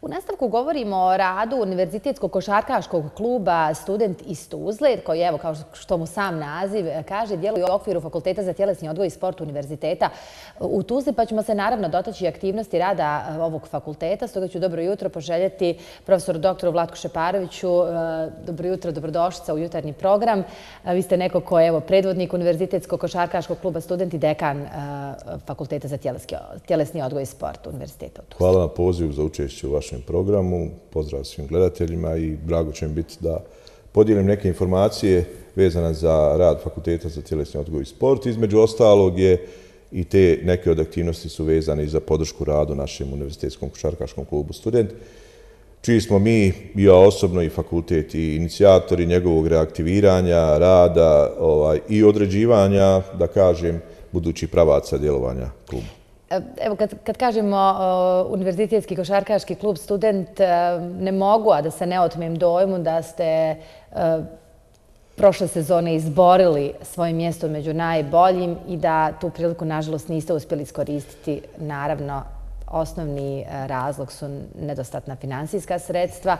U nastavku govorimo o radu Univerzitetskog košarkaškog kluba Student iz Tuzle, koji, evo, kao što mu sam naziv kaže, djeluje u okviru Fakulteta za tjelesni odgoj i sport Univerziteta u Tuzli, pa ćemo se naravno dotaći aktivnosti rada ovog fakulteta. Stoga ću dobro jutro poželjeti profesoru doktoru Vlatku Šeparoviću. Dobro jutro, dobrodošlica u jutarnji program. Vi ste neko ko je predvodnik Univerzitetskog košarkaškog kluba Student i dekan Fakulteta za tjelesni odgoj i sport Univerziteta u Tuzli. Hvala na pozivu za učešće u vašem programu. Pozdrav svim gledateljima i drago će mi biti da podijelim neke informacije vezane za rad Fakulteta za tjelesni odgoj i sport. Između ostalog je i te neke od aktivnosti su vezane i za podršku radu našem Univerzitetskom košarkaškom klubu Student, čiji smo mi, ja osobno i fakultet, i inicijatori njegovog reaktiviranja, rada i određivanja, da kažem, budućih pravaca djelovanja kluba. Evo, kad kažemo Univerzitetski košarkaški klub Student, ne mogu, a da se ne otmem dojmu da ste prošle sezone izborili svoje mjesto među najboljim i da tu priliku, nažalost, niste uspjeli iskoristiti. Naravno, osnovni razlog su nedostatna finansijska sredstva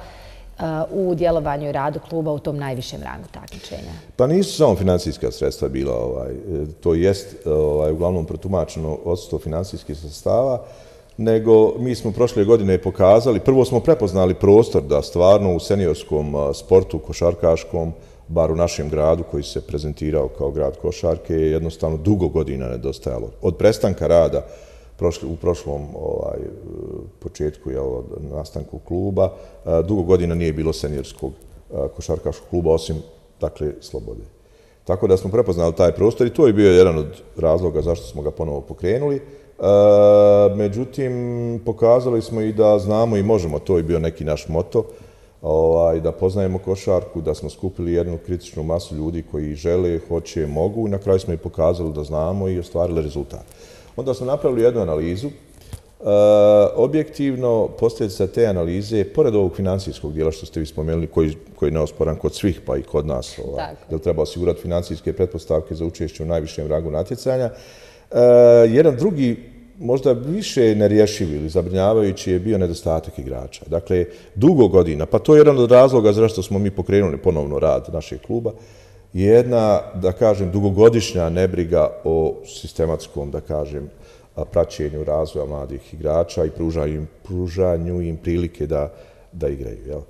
u djelovanju i radu kluba u tom najvišem rangu takmičenja. Pa nisu samo finansijska sredstva bila, to jest uglavnom protumačeno odsustvo finansijskih sredstava, nego mi smo prošle godine pokazali, prvo smo prepoznali prostor da stvarno u seniorskom sportu košarkaškom, bar u našem gradu koji se prezentirao kao grad košarke, je jednostavno dugo godina nedostajalo. Od prestanka rada u prošlom početku nastanku kluba, dugo godina nije bilo seniorskog košarkaškog kluba, osim, dakle, Slobode. Tako da smo prepoznali taj prostor i to je bio jedan od razloga zašto smo ga ponovo pokrenuli. Međutim, pokazali smo i da znamo i možemo, to je bio neki naš moto, da poznajemo košarku, da smo skupili jednu kritičnu masu ljudi koji žele, hoće, mogu i na kraju smo i pokazali da znamo i ostvarili rezultat. Onda smo napravili jednu analizu. Objektivno, posljedica te analize, pored ovog financijskog dijela što ste vi spomenuli, koji je neosporan kod svih, pa i kod nas, jer treba osigurati financijske pretpostavke za učešće u najvišem rangu natjecanja, jedan drugi, možda više nerješiv ili zabrinjavajući je bio nedostatak igrača. Dakle, dugo godina, pa to je jedan od razloga zašto smo mi pokrenuli ponovno rad našeg kluba, jedna, da kažem, dugogodišnja nebriga o sistematskom, da kažem, praćenju razvoja mladih igrača i pružanju im prilike da igraju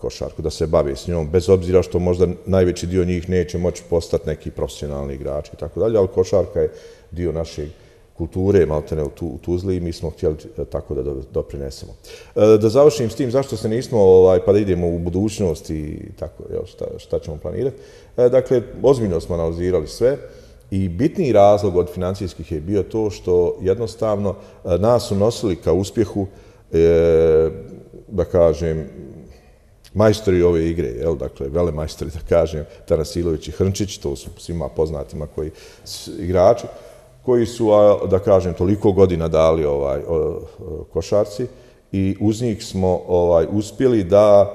košarku, da se bave s njom, bez obzira što možda najveći dio njih neće moći postati neki profesionalni igrači i tako dalje, ali košarka je dio našeg kulture, maltene u Tuzli i mi smo htjeli tako da doprinesemo. Da završim s tim zašto se nismo, pa da idemo u budućnost i tako, šta ćemo planirati. Dakle, ozbiljno smo analizirali sve i bitniji razlog od financijskih je bio to što jednostavno nas su nosili ka uspjehu, da kažem, majstori ove igre, dakle, velemajstori, da kažem, Tanasilović i Hrnčić, to su svima poznatima koji igrači, koji su, da kažem, toliko godina dali košarci i uz njih smo uspjeli da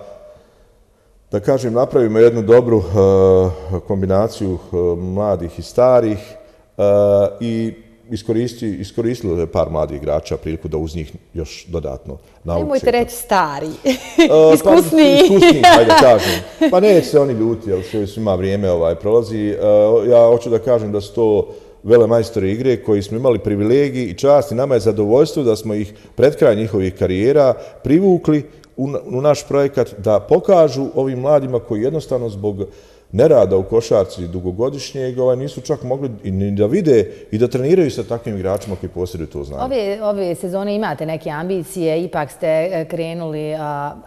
kažem, napravimo jednu dobru kombinaciju mladih i starih i iskoristili par mladih igrača priliku da uz njih još dodatno nauče. Nemojte reći stari, iskusniji. Iskusniji, hajde kažem. Pa neće se oni ljuti, jer svima vrijeme prolazi. Ja hoću da kažem da su to velemajstori igre koji smo imali privilegiji i čast i nama je zadovoljstvo da smo ih pred kraj njihovih karijera privukli u naš projekat da pokažu ovim mladima koji jednostavno zbog nerada u košarci dugogodišnjeg nisu čak mogli ni da vide i da treniraju sa takvim igračima koji posjeduju to znanje. Ove sezone imate neke ambicije, ipak ste krenuli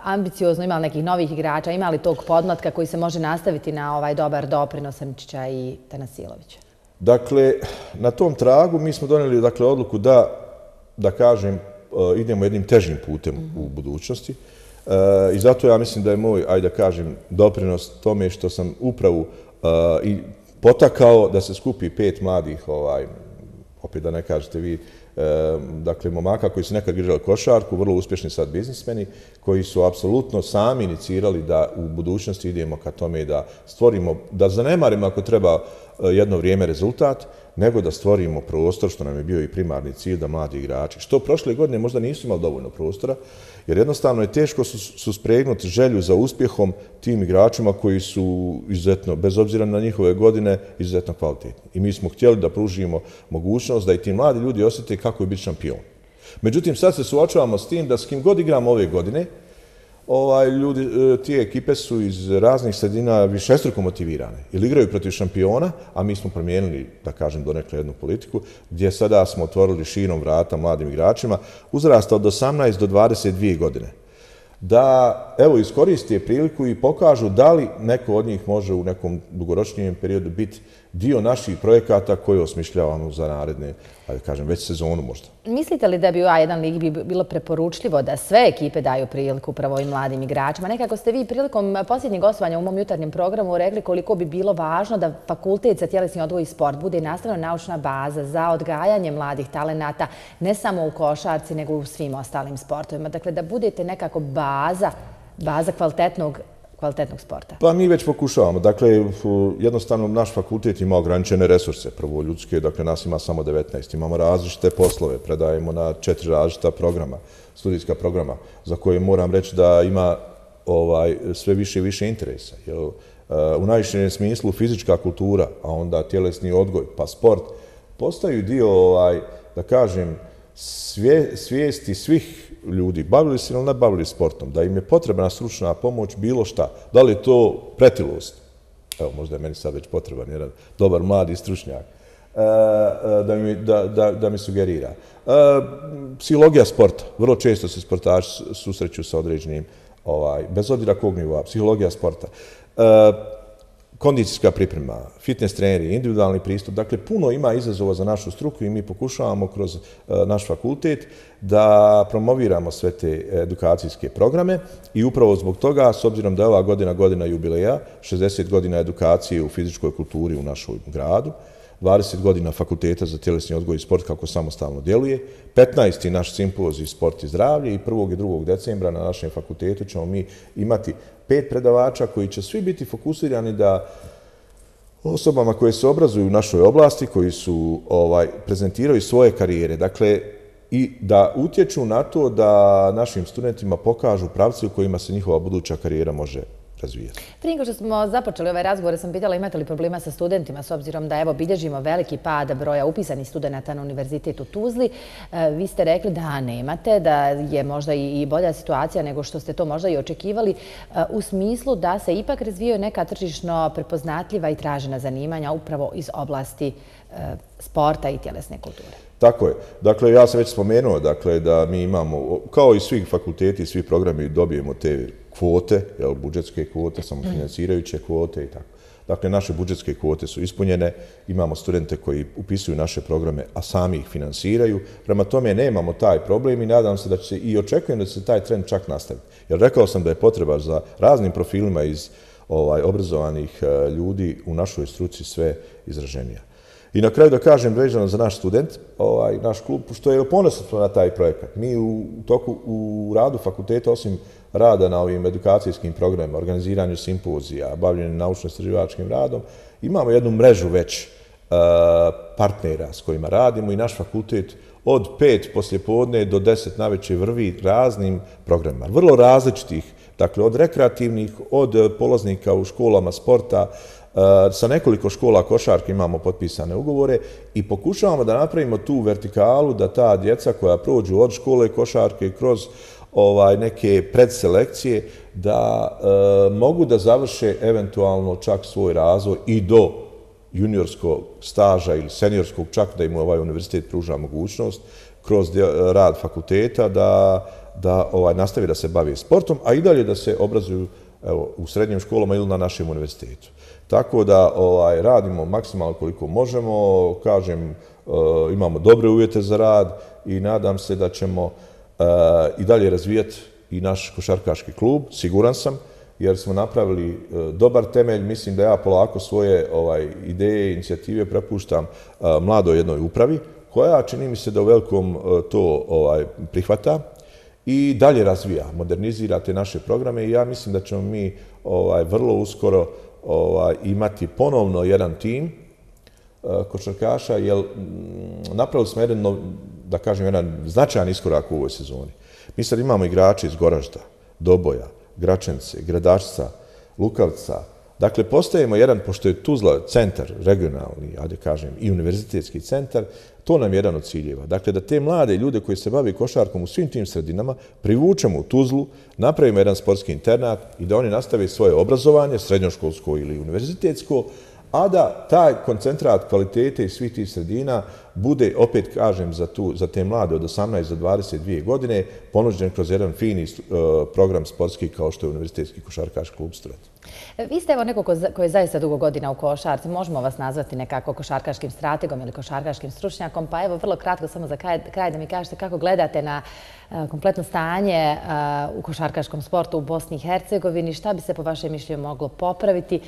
ambiciozno, imali nekih novih igrača, imali tog podmlatka koji se može nastaviti na ovaj dobar doprinos Hrnčića i Tanasilovića? Dakle, na tom tragu mi smo donijeli odluku da kažem, idemo jednim težim putem u budućnosti. I zato ja mislim da je moj, ajde da kažem, doprinos tome što sam upravu i potakao da se skupi 5 mladih, opet da ne kažete vi, dakle, momaka koji su nekad igrali košarku, vrlo uspješni sad biznismeni, koji su apsolutno sami inicirali da u budućnosti idemo ka tome da stvorimo, da zanemarimo ako treba jedno vrijeme rezultat, nego da stvorimo prostor, što nam je bio i primarni cilj, da mladi igrači, što prošle godine možda nisu imali dovoljno prostora, jer jednostavno je teško suspregnuti želju za uspjehom tim igračima koji su izuzetno, bez obzira na njihove godine, izuzetno kvalitetni. I mi smo htjeli da pružimo mogućnost da i ti mladi ljudi osjete kako je biti šampion. Međutim, sad se suočavamo s tim da s kim god igramo ove godine, tije ekipe su iz raznih sredina višestruko motivirane ili igraju protiv šampiona, a mi smo promijenili, da kažem, donekle jednu politiku, gdje sada smo otvorili širom vrata mladim igračima uzrasta od 18 do 22 godine. Da, evo, iskoriste priliku i pokažu da li neko od njih može u nekom dugoročnijem periodu biti dio naših projekata koje osmišljavamo za naredne, da kažem, već sezonu možda. Mislite li da bi u A1 ligi bilo preporučljivo da sve ekipe daju priliku upravo ovim mladim igračima? Nekako ste vi prilikom posljednjeg gostovanja u mom jutarnjem programu rekli koliko bi bilo važno da fakultet za tjelesni odgoj i sport bude nastavno-naučna baza za odgajanje mladih talenata, ne samo u košarci, nego u svim ostalim sportovima. Dakle, da budete nekako baza kvalitetnog sporta. Pa mi već pokušavamo. Dakle, jednostavno naš fakultet ima ograničene resurse, prvo ljudske, dakle nas ima samo 19. Imamo različite poslove, predajemo na 4 različita programa, studijska programa, za koje moram reći da ima sve više i više interesa. U najvišem smislu fizička kultura, a onda tjelesni odgoj, pa sport, postaju dio, da kažem, svijesti svih ljudi, bavili se ili ne bavili sportom, da im je potrebna stručna pomoć, bilo šta. Da li je to pretilost? Evo, možda je meni sad već potreban jedan dobar mladi stručnjak da mi sugerira. Psihologija sporta. Vrlo često se sportači susreću sa određenim, bez obzira kog nivoa, psihologija sporta. Kondicijska priprema, fitness treneri, individualni pristup. Dakle, puno ima izazova za našu struku i mi pokušavamo kroz naš fakultet da promoviramo sve te edukacijske programe i upravo zbog toga, s obzirom da je ova godina jubileja, 60 godina edukacije u fizičkoj kulturi u našoj gradu, 20 godina fakulteta za tjelesni odgoj i sport kako samostalno djeluje, 15. naš simpozij sport i zdravlje i 1. i 2. decembra na našem fakultetu ćemo mi imati 5 predavača koji će svi biti fokusirani da osobama koje se obrazuju u našoj oblasti, koji su prezentiraju svoje karijere, dakle, i da utječu na to da našim studentima pokažu pravce u kojima se njihova buduća karijera može razvijati. Prije nego što smo započeli ovaj razgovor, sam pitala imate li problema sa studentima, s obzirom da evo bilježimo veliki pad broja upisanih studenata na Univerzitet u Tuzli. Vi ste rekli da nemate, da je možda i bolja situacija nego što ste to možda i očekivali, u smislu da se ipak razvijaju neka tržišno prepoznatljiva i tražena zanimanja upravo iz oblasti sporta i tjelesne kulture. Tako je. Dakle, ja sam već spomenuo da mi imamo, kao i svi fakulteti i svi programi, dobijemo te kvote, budžetske kvote, samofinancirajuće kvote i tako. Dakle, naše budžetske kvote su ispunjene, imamo studente koji upisuju naše programe, a sami ih finansiraju. Prema tome nemamo taj problem i nadam se da će se i očekujem da će se taj trend čak nastaviti. Jer rekao sam da je potreba za raznim profilima iz obrazovanih ljudi u našoj struci sve izraženija. I na kraju da kažem vezano za naš student, naš klub, što je ponosno na taj projekat. Mi u radu fakulteta, osim rada na ovim edukacijskim programima, organiziranju simpozija, bavljenju naučno-istraživačkim radom, imamo jednu mrežu već partnera s kojima radimo i naš fakultet od 5 poslijepodne do 10 navečer vrvi raznim programima. Vrlo različitih, dakle od rekreativnih, od polaznika u školama sporta, sa nekoliko škola košarke imamo potpisane ugovore i pokušavamo da napravimo tu vertikalu da ta djeca koja prođu od škole košarke kroz neke predselekcije da mogu da završe eventualno čak svoj razvoj i do juniorskog staža ili seniorskog, čak da im ovaj univerzitet pruža mogućnost kroz rad fakulteta da nastavi da se bavi sportom, a i dalje da se obrazuju u srednjim školama ili na našem univerzitetu. Tako da radimo maksimalno koliko možemo, kažem, imamo dobre uvjete za rad i nadam se da ćemo i dalje razvijati i naš košarkaški klub, siguran sam, jer smo napravili dobar temelj. Mislim da ja polako svoje ideje i inicijative prepuštam mladoj jednoj upravi, koja čini mi se da u velikom to prihvata i dalje razvija, modernizira te naše programe i ja mislim da ćemo mi vrlo uskoro imati ponovno jedan tim košarkaša, jer napravili smo jedan, da kažem, jedan značajan iskorak u ovoj sezoni. Mi sad imamo igrače iz Goražda, Doboja, Gračence, Gradašca, Lukavca. Dakle, postajemo jedan, pošto je Tuzla centar, regionalni, ajde kažem, i univerzitetski centar, to nam je jedan od ciljeva. Dakle, da te mlade ljude koji se bave košarkom u svim tim sredinama privučemo u Tuzlu, napravimo jedan sportski internat i da oni nastave svoje obrazovanje, srednjoškolsko ili univerzitetsko, a da taj koncentrat kvalitete iz svih tih sredina bude, opet kažem, za te mlade od 18 do 22 godine ponuđen kroz jedan fini program sportski kao što je Univerzitetski košarkaški klub Student. Vi ste evo neko ko je zaista dugo godina u košarci. Možemo vas nazvati nekako košarkaškim strategom ili košarkaškim stručnjakom. Pa evo, vrlo kratko, samo za kraj da mi kažete kako gledate na kompletno stanje u košarkaškom sportu u Bosni i Hercegovini. Šta bi se po vašem mišljenju moglo popraviti?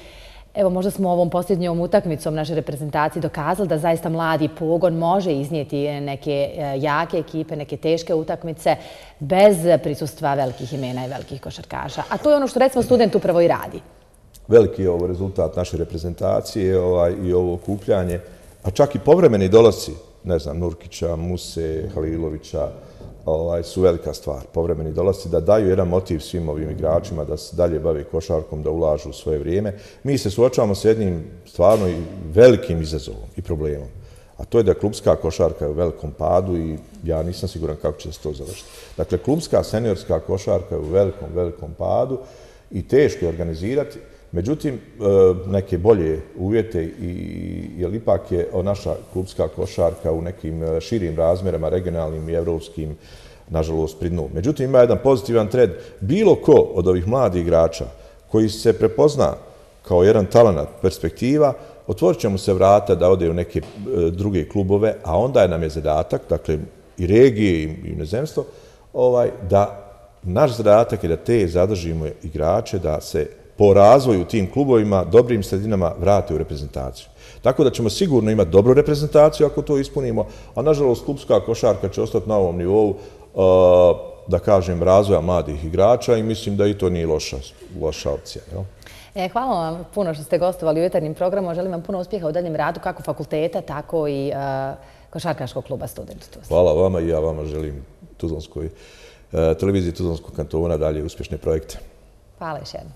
Evo, možda smo ovom posljednjom utakmicom naše reprezentacije dokazali da zaista mladi pogon može iznijeti neke jake ekipe, neke teške utakmice bez prisustva velikih imena i velikih košarkaša. A to je ono što recimo Student upravo i radi. Veliki je ovo rezultat naše reprezentacije i ovo okupljanje, a čak i povremeni dolasci, ne znam, Nurkića, Muse, Halilovića, su velika stvar. Povremeni dolasci da daju jedan motiv svim ovim igračima da se dalje bave košarkom, da ulažu u svoje vrijeme. Mi se suočavamo s jednim stvarno velikim izazovom i problemom. A to je da klubska košarka je u velikom padu i ja nisam siguran kako će se to završiti. Dakle, klubska seniorska košarka je u velikom padu i teško je organizirati. Međutim, neke bolje uvjete, jer ipak je naša klubska košarka u nekim širim razmjerama, regionalnim i evropskim, nažalost, pri dnu. Međutim, ima jedan pozitivan trend. Bilo ko od ovih mladih igrača koji se prepozna kao jedan talenat, perspektiva, otvorit će mu se vrata da ode u neke druge klubove, a onda nam je zadatak, dakle, i regije i inozemstvo, da naš zadatak je da te zadržimo igrače, da se po razvoju u tim klubovima, dobrim sredinama vrate u reprezentaciju. Tako da ćemo sigurno imati dobru reprezentaciju ako to ispunimo, a nažalost klubska košarka će ostati na ovom nivou, da kažem, razvoja mladih igrača i mislim da i to nije loša opcija. Hvala vam puno što ste gostovali u Jutarnjim programom. Želim vam puno uspjeha u daljem radu kako fakulteta, tako i košarkaškog kluba Student. Hvala vama i ja vama želim televiziji Tuzlanskog kantona dalje uspješne projekte. Hvala još jednom.